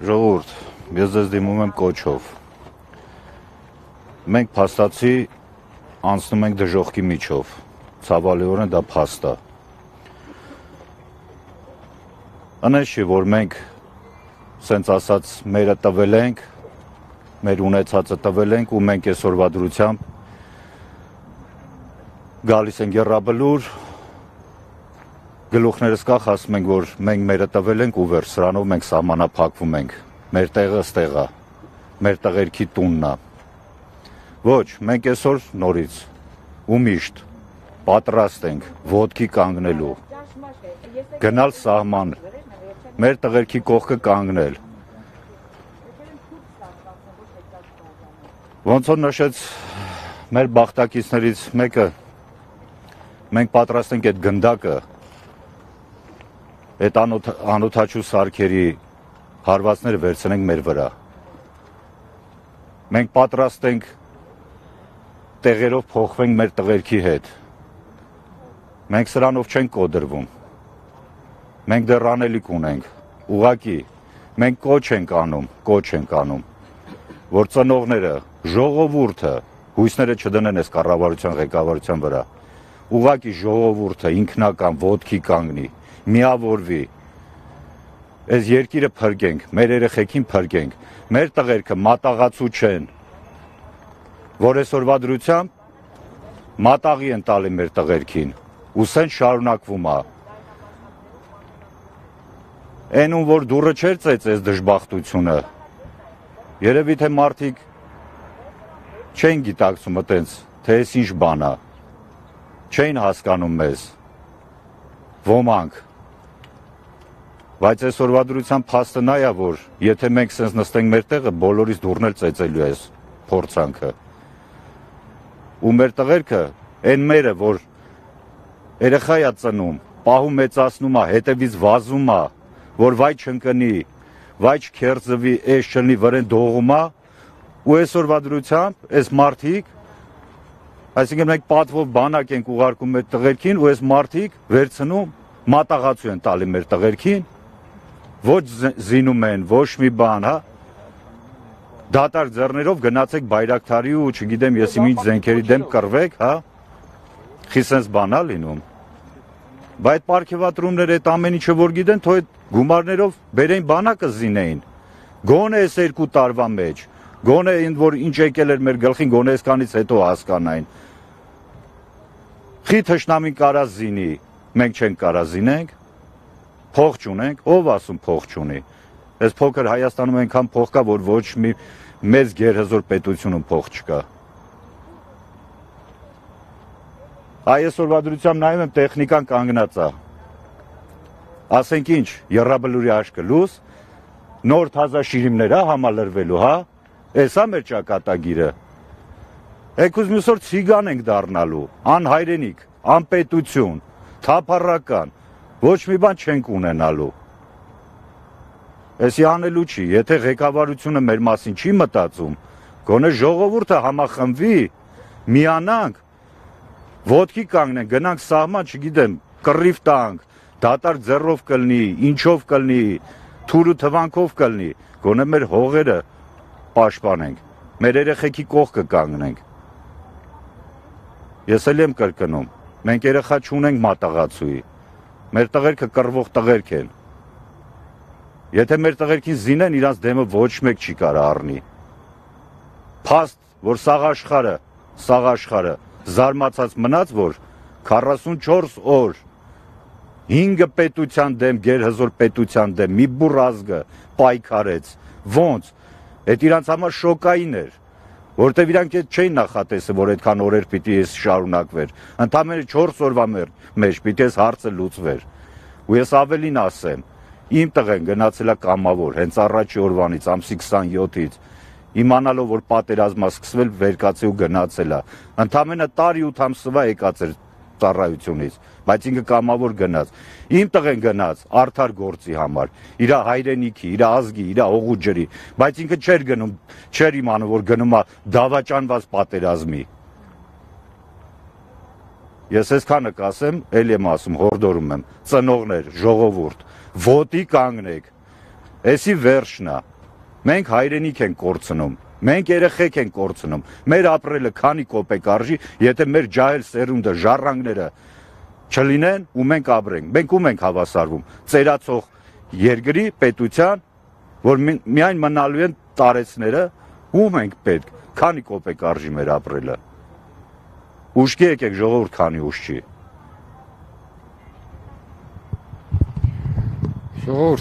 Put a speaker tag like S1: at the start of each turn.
S1: Ժողովուրդ, ես ձեզ դիմում եմ կոչով։ Մենք փաստացի անցնում ենք դժոխքի միջով, ցավալիորեն դա փաստ է։ Անես չի, որ մենք սենց ասած մերը տվել ենք, մեր ունեցածը տվել ենք ու մենք այսօրվա դրությամբ գալիս են եռաբլուր, գլուխներս կախ ասում ենք, որ մենք մերը տվել ենք ու վեր սրանով մենք սահմանափակվում ենք, մեր տեղը ստեղ է, մեր տղերքի տունն է։ Ոչ, մենք այսօր նորից ու միշտ պատրաստ ենք ոտքի կանգնելու, գնալ սահման, մեր տղերքի կողքը կանգնել։ Ոնց որ նշեց մեր բախտակիցներից մեկը, մենք պատրաստ ենք այդ գնդակը, այդ անօթաչու սարքերի հարվածները վերցնենք մեր վրա։ Մենք պատրաստ ենք տեղերով փոխվենք մեր տղերքի հետ։ Մենք սրանով չենք կոդրվում։ Մենք դեռ անելիք ունենք։ Ուղղակի մենք կոչ ենք անում, որ ծնողները, ժողովուրդը, հույսները չդնեն այս կառավարության ղեկավարության վրա։ Ուղղակի ժողովուրդը ինքնական ոտքի կանգնի, միավորվի, այս երկիրը փրկենք, մեր երեխեքին փրկենք, մեր տղերքը մատաղացու չեն, որ այսօրվա դրությամբ մատաղի են տալի մեր տղերքին, ու սեն շարունակվում է։ Այն ում որ դուրը չեր ծեծես դժբախտությունը, երևի թե մարդիկ չեն գիտակցում այտենց, թե այս ինչ բան է, չեն հասկանում մեզ, ոմանք, բայց այսօրվա դրությամբ փաստը նա է, որ եթե մենք սենց նստենք մեր տեղը, բոլորիս դուրն էլ ծեծելու է փորձանքը։ Ու մեր տղերքը, այն մերը, որ երեխա է ծնում, պահում մեծացնում է, հետևից վազում է, որ վայ չընկնի, վայ չքերձվի, էս չլնի, վրեն դողում է, ու այսօրվա դրությամբ այս մարդիկ, այսինքն մենք պատվով բանակ ենք ուղարկում մեր տղերքին, ու այս մարդիկ վերցնում, մատաղացու են տալի մեր տղերքին, ոչ զինում են, ոչ մի բան, հա, դատարկ ձեռներով գնացեք Բայրակթարի ու չգիտեմ ես ինչ զենքերի դեմ կռվեք, հա, խիսենց բան է լինում, բայց պարգևատրումներ այդ ամեն ինչը որ գիտեն, թող այդ գումարներով բերեին բանակը զինեին, գոնե այս 2 տարվա մեջ, գոնե ինձ որ ինչ եկել էր մեր գլխին, գոնե այսքանից հետո հասկանային, խի թշնամին կարա զինի, մենք չենք կարա զինենք, փող չունենք, ով ասում փող չունի, այս փոքր Հայաստանում այնքան փող կա, որ ոչ մի մեծ գերհզոր պետությունում փող չկա։ Այսօրվա դրությամբ նայում եմ տեխնիկան կանգնած է, ասենք ինչ, եռաբլուրի աշկը լուս, նոր թազա շիրիմներ է համալրվելու, հա, այս է մեր ճակատագիրը, եկուզ մյուս օր ցիգան ենք դառնալու, անհայրենիք, անպետություն, թափառական, ոչ մի բան չենք ունենալու։ Էսի անելու չի, եթե ղեկավարությունը մեր մասին չի մտածում, գոնե ժողովուրդը համախմբվի, միանանք, ոտքի կանգնենք, գնանք սահման, չգիտեմ, կռիվ տանք, դատարկ ձեռով կլնի, ինչով կլնի, թուրու թվանքով կլնի, գոնե մեր հողերը պաշտպանենք, մեր երեխեքի կողքը կանգնենք։ Ես էլ եմ կրկնում, մենք երեխա չունենք մատաղացուի, մեր տղերքը կռվող տղերք են։ Եթե մեր տղերքին զինեն, իրանց դեմը ոչ մեկ չի կարա առնի։ Փաստ, որ սաղ աշխարը զարմացած մնաց, որ 44 օր 5 պետության դեմ, գերհզոր պետության դեմ, մի բուռ ազգը պայքարեց, ոնց, այդ իրանց համար շոկային էր, որտեվ իրանք չէին նախատեսել, որ այդքան օրեր պիտի ես շարունակվեր, ընդամենը 4 օրվա մեջ պիտի ես հարցը լուծվեր, ու ես ավելին ասեմ, իմ տղեն գնացել է կամավոր, հենց առաջի օրվանից, ամսի 27-ից, իմանալով, որ պատերազմա սկսվել, վերկացել ու գնացել է, ընդամենը տարի 8 ամսվա եկած էր ծառայությունից, բայց ինքը կամավոր գնաց, իմ տղեն գնաց արդար գործի համար, իր հայրենիքի, իր ազգի, իր հողու ջրի, բայց ինքը չէր գնում, չէր իմանում, որ գնում է դավաճանված պատերազմի։ Ես այսքանը կասեմ, էլ եմ ասում, հորդորում եմ, ծնողներ, ժողովուրդ, ոտի կանգնեք, Էսի վերջն է։ Մենք հայրենիք ենք կորցնում, մենք երեխեք ենք կորցնում։ Մեր ապրելը քանի կոպեկ արժի, եթե մեր ջահել սերունդը, ժառանգները չլինեն ու մենք ապրենք։ Մենք ում ենք հավասարվում։ Ծերացող երկրի պետության, որ միայն մնալու են տարեցները, ում ենք պետք։ Քանի կոպեկ արժի մեր ապրելը։ Ուշքի եկեք ժողովուրդ, քանի ուշ չի։
S2: Ժողովուրդ